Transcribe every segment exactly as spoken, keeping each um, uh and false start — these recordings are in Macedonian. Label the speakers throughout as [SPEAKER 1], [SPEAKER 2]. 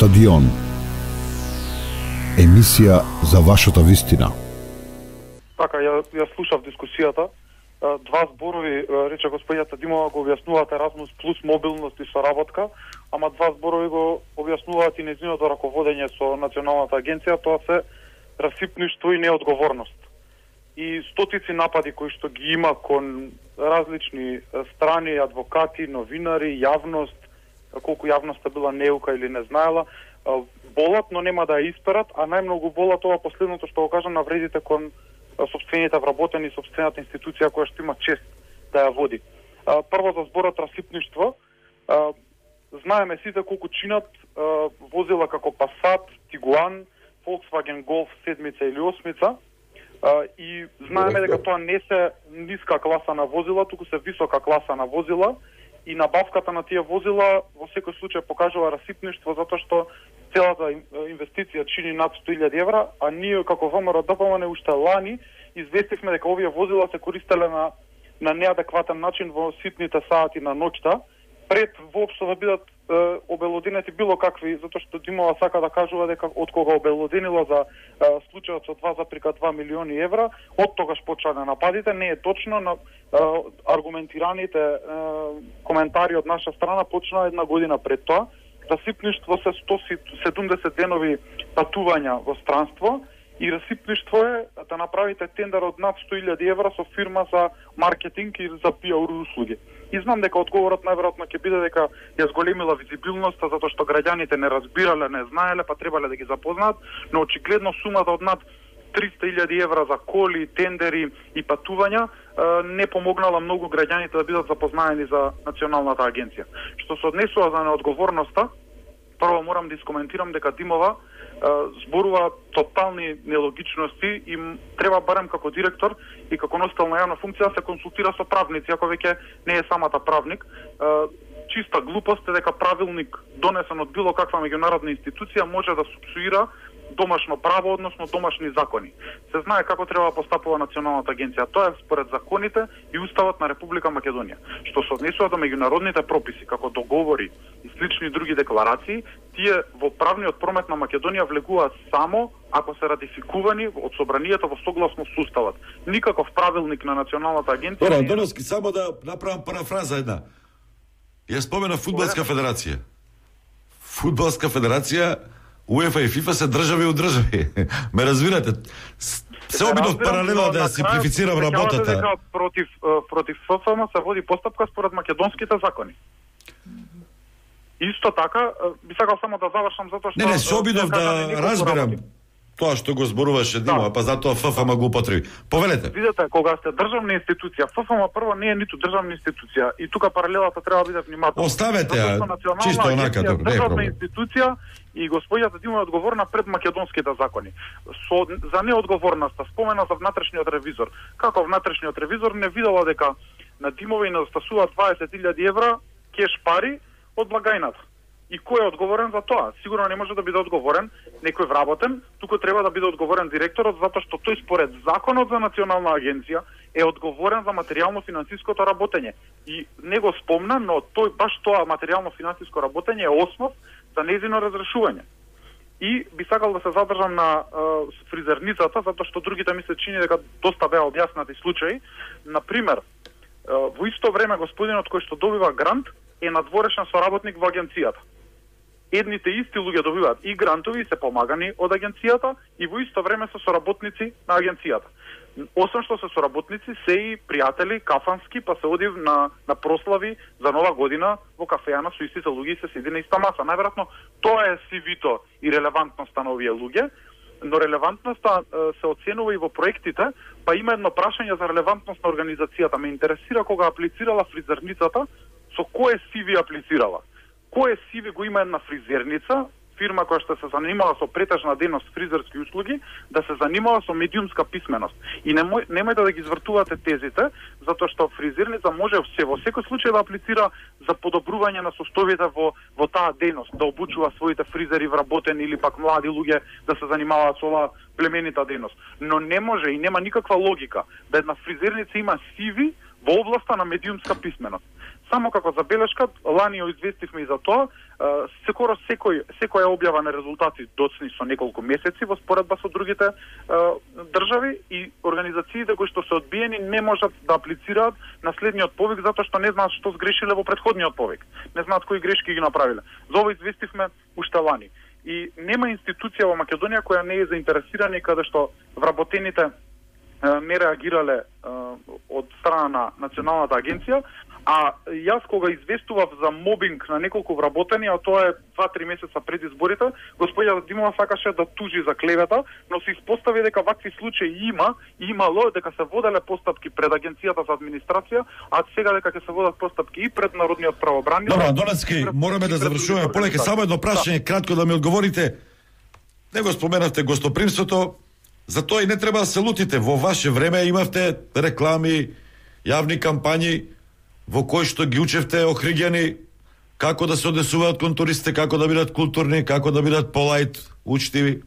[SPEAKER 1] Стадион. Емисија за вашата вистина.
[SPEAKER 2] Така, ја, ја слушав дискусијата. Два зборови, рече господината Димова, го објаснуваат Еразмус плюс мобилност и соработка, ама два зборови го објаснуваат и нејзиното раководење со Националната агенција, тоа се расипништво и неодговорност. И стотици напади кои што ги има кон различни страни, адвокати, новинари, јавност, колку јавноста била неука или не знаела, болат, но нема да ја исперат, а најмногу болат ова последното што го кажам, навредите кон собствените вработени, собствената институција која што има чест да ја води. Прво за зборот расипништво, знаеме сите колку чинат возила како Passat, Tiguan, Volkswagen Golf седмица или осмица, и знаеме дека тоа не се ниска класа на возила, туку се висока класа на возила, и набавката на тие возила во секој случај покажува расипништво, затоа што целата инвестиција чини над сто илјади евра, а ние како ВМРО-ДПМН уште лани известивме дека овие возила се користеле на на неадекватен начин во ситните сати на ноќта, пред воопшто да бидат е, обелоденети било какви, затоа што Димова сака да кажува дека од кога обелоденила за е, случајот со два зарез два милиони евра, од тогаш почнале нападите. Не е точно, на е, аргументираните е, коментари од наша страна почнаа една година пред тоа. Расипништво се сто седумдесет денови патувања во странство, и расипништво е да направите тендер од над сто илјади евра со фирма за маркетинг и за пиар услуги. И знам дека одговорот најверојатно ќе биде дека ја зголемила визибилноста затоа што граѓаните не разбирале, не знаеле, па требале да ги запознаат, но очигледно сумата од над триста илјади евра за коли, тендери и патувања не помогнала многу граѓаните да бидат запознаени за Националната агенција. Што се однесува за неодговорноста, прво морам да искоментирам дека Димова зборува тотални нелогичности и треба барем како директор и како носител на јавна функција да се консултира со правници, ако веќе не е самата правник. Чиста глупост е дека правилник донесен од било каква меѓународна институција може да супсуира домашно право, односно домашни закони. Се знае како треба да постапува Националната агенција. Тоа е според законите и Уставот на Република Македонија. Што се однесува до меѓународните прописи, како договори и слични други декларации, тие во правниот промет на Македонија влегуваат само ако се ратификувани од собранието во согласно со Уставот. Никаков правилник на Националната агенција.
[SPEAKER 3] Добро, Антоновски, само да направам парафраза една. Ја спомена Фудбалска федерација. Фудбалска федерација, УЕФА и ФИФА се држави у држави. Ме разбирате? Се обидов паралелно да симплифицирам работата.
[SPEAKER 2] Дека против против ФФМ се води постапка според македонските закони. Исто така, би сакал само да завршам затоа што
[SPEAKER 3] Не, не, се обидов да разберам тоа што го зборуваше Димова, да. Па затоа ФФМ го употреби. Повелете.
[SPEAKER 2] Видете, кога сте државна институција, ФФМ прво не е ниту државна институција и тука паралелата треба да биде внимателна.
[SPEAKER 3] Оставете ја, чисто онака, добро, не е
[SPEAKER 2] државна
[SPEAKER 3] проблем.
[SPEAKER 2] институција и господијата Димова е одговорна пред македонските закони. Со, за неодговорноста спомена за внатрешниот ревизор. Како внатрешниот ревизор не видела дека на Димова и недостасува дваесет илјади евра кеш пари од благајната. И кој е одговорен за тоа? Сигурно не може да биде одговорен некој вработен, туку треба да биде одговорен директорот, затоа што тој според законот за Национална агенција е одговорен за материјално-финансиското работење. И не го спомна, но тој баш тоа материјално-финансиско работење е основ за нејзино разрешување. И би сакал да се задржам на uh, фризерницата, затоа што другите ми се чини дека доста беа објаснати случаи. Например, uh, во исто време господинот кој што добива грант е надворешен соработник во агенцијата. Едните исти луѓе добиваат и грантови и се помагани од агенцијата и во исто време се соработници на агенцијата. Освен што се соработници, се и пријатели кафански, па се оди на, на прослави за нова година во кафејана со истите луѓе и се седи на иста маса. Најверојатно тоа е сивито и релевантноста на овие луѓе, но релевантноста се оценува и во проектите, па има едно прашање за релевантност на организацијата. Ме интересира кога аплицирала фризерницата, со кое сиви аплицирала. Кое сиви го има една фризерница, фирма која што се занимава со претежна дејност фризерски услуги, да се занимава со медиумска писменост. И немој, немојте да ги извртувате тезите, затоа што фризерница може се во секој случај да аплицира за подобрување на состојбите во, во таа дејност, да обучува своите фризери вработени или пак млади луѓе да се занимаваат со оваа племенита дејност. Но не може и нема никаква логика да една фризерница има сиви во областа на медиумска писменост. Само како забелешка, лани ја известивме и за тоа, секоро секој секоја објава на резултати доцни со неколку месеци во споредба со другите држави и организациите кои што се одбиени не можат да аплицираат на следниот повик затоа што не знаат што сгрешиле во претходниот повик. Не знаат кои грешки ги направиле. За ова известивме уште лани. И нема институција во Македонија која не е заинтересирана и каде што вработените не реагирале од страна на Националната агенција, а јас кога известував за мобинг на неколку вработени, а тоа е два-три месеца пред изборите, господја Димова сакаше да тужи за клевета, но се испостави дека вакви случаи има, имало, дека се воделе постапки пред Агенцијата за администрација, а сега дека ќе се водат постапки и пред Народниот правобраник.
[SPEAKER 3] Добро, Доневски, мораме да завршуваме. Полека, само едно прашање, кратко да ми одговорите. Не го споменавте гостопримството, затоа и не треба да се лутите. Во ваше време имавте реклами, јавни кампањи, во кои што ги учевте охриѓани како да се однесуваат кон туристите, како да бидат културни, како да бидат полајт, учтиви.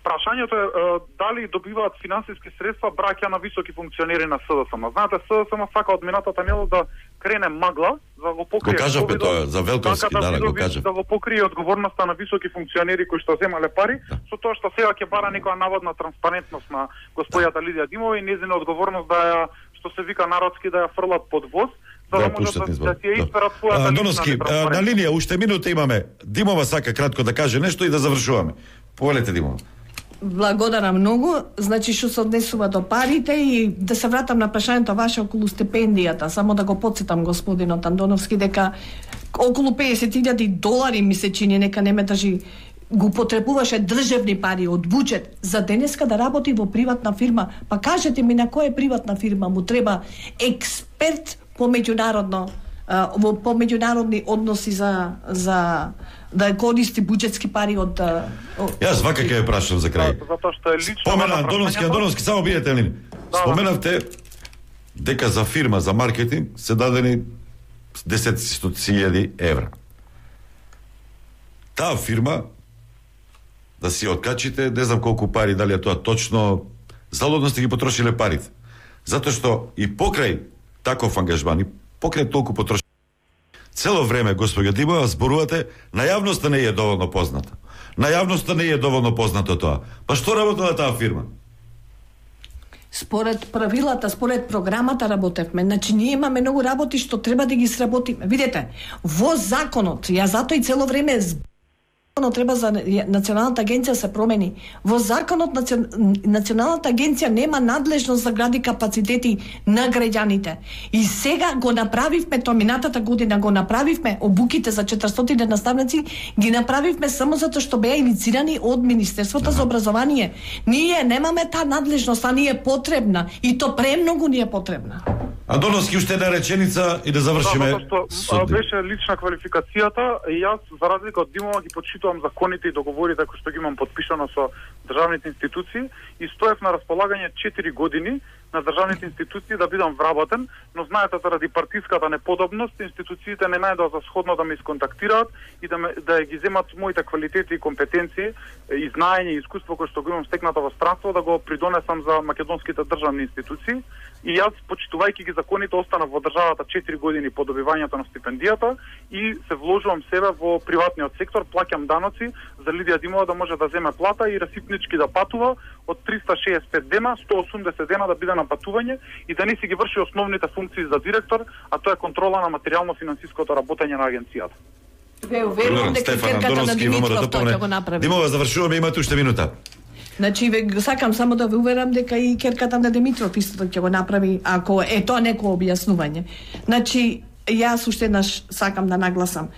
[SPEAKER 2] Прашањето е дали добиваат финансиски средства браќа на високи функционери на СДСМ. Знаете, СДСМ сака од минатата недела да крене магла за да го покрие.
[SPEAKER 3] Го кажавме тоа за Велковски, да, да го кажа.
[SPEAKER 2] Да го покрие одговорноста на високи функционери кои што земале пари, да. Со тоа што сега ќе бара некоја наводна транспарентност на господјата Лидија Димова и нејзина одговорност да ја, што се вика народски, да ја фрлат под воз, за да, да можат да, да ќе изберат својата
[SPEAKER 3] Доновски, на линија уште минута имаме. Димова сака кратко да каже нешто и да завршуваме. Повелете, Димова.
[SPEAKER 4] Благодарам многу. Значи, што се однесува до парите и да се вратам на прашањето ваше околу стипендијата, само да го потсетам господинот Андоновски дека околу песет илјади долари ми се чини, нека не ме држи, го потребуваше државни пари од буџет за денеска да работи во приватна фирма. Па кажете ми на која приватна фирма му треба експерт по меѓународно во по меѓународни односи за за да користи буџетски пари од, од...
[SPEAKER 3] Јас вака ќе ве прашам за крај.
[SPEAKER 2] Затоа што е лично.
[SPEAKER 3] Спомена Андоновски, Андоновски, само бидете лини. Да, споменавте дека за фирма за маркетинг се дадени десетци илјади евра. Таа фирма да си откачите, не знам колку пари, дали е тоа точно, залудно сте ги потрошиле парите. Затоа што и покрај таков ангажман, и покрај толку потрошиле, цело време, господја Димова, зборувате, на јавноста не е доволно позната. На јавноста не е доволно познато тоа. Па што работела таа фирма?
[SPEAKER 4] Според правилата, според програмата работевме. Значи, ние имаме многу работи што треба да ги сработиме. Видете, во законот, ја затоа и цело време законот треба за Националната агенција се промени. Во законот Националната агенција нема надлежност за гради капацитети на граѓаните. И сега го направивме, тоа минатата година го направивме, обуките за четиристотини наставници ги направивме само затоа што беа иницирани од Министерството за образование. Ние немаме таа надлежност, а ни е потребна и то премногу ни е потребна.
[SPEAKER 3] Андоновски, уште една реченица и да завршиме.
[SPEAKER 2] Да, што беше лична квалификацијата и јас за разлика од Димова ги почитувам законите и договорите кои што ги имам подпишано со државните институции и стоев на располагање четири години на државните институции да бидам вработен, но знаете заради партиската неподобност институциите не најдоа за сходно да ме исконтактираат и да ме, да ги земат моите квалитети и компетенции и знаење и искуство кои што го имам стекнато во странство да го придонесам за македонските државни институции. И јас, почитувајќи ги законите, останав во државата четири години по добивањето на стипендијата и се вложувам себе во приватниот сектор, плаќам даноци за Лидија Димова да може да земе плата и расипнички да патува од триста шеесет и пет дена, сто и осумдесет дена да биде на патување и да не си ги врши основните функции за директор, а тоа е контрола на материјално-финансиското работење на агенцијата.
[SPEAKER 4] Ве уверувам дека керката на Димитров тоа ќе го направи.
[SPEAKER 3] Димова, завршуваме, имате уште минута.
[SPEAKER 4] Значи, ве сакам само да ве уверам дека и керката на Димитров исто ќе го направи, ако е тоа некој објаснување. Значи, јас уште еднаш сакам да нагласам.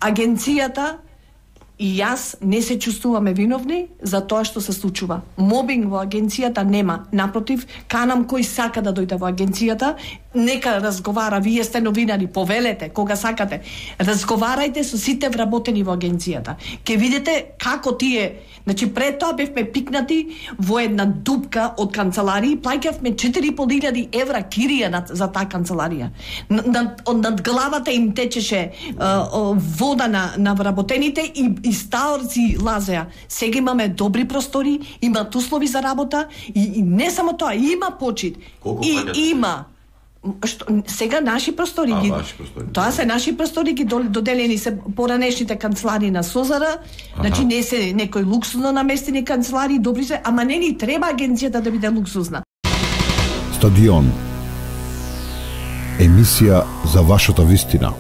[SPEAKER 4] Агенцијата и јас не се чувствуваме виновни за тоа што се случува. Мобинг во агенцијата нема. Напротив, канам кој сака да дојде во агенцијата, нека разговара, вие сте новинари, повелете кога сакате. Разговарајте со сите вработени во агенцијата. Ке видите како тие, значи пред тоа бевме пикнати во една дупка од канцеларија, плаќавме четири и пол илјади евра кирија над, за таа канцеларија. Над, над главата им течеше uh, вода на, на вработените и, и стаорци лазеа. Сега имаме добри простори, имаат услови за работа и, и не само тоа, има почит.
[SPEAKER 3] Колку
[SPEAKER 4] и
[SPEAKER 3] плакате?
[SPEAKER 4] Има Што, сега наши простори
[SPEAKER 3] А,
[SPEAKER 4] ги
[SPEAKER 3] ваши простори.
[SPEAKER 4] Тоа се наши простори ги дол- доделени се поранешните канцелари на Созара, значи не се некои луксузно наместени канцелари, добри се, ама не ни треба агенцијата да биде луксузна.
[SPEAKER 1] Стадион. Емисија за вашата вистина.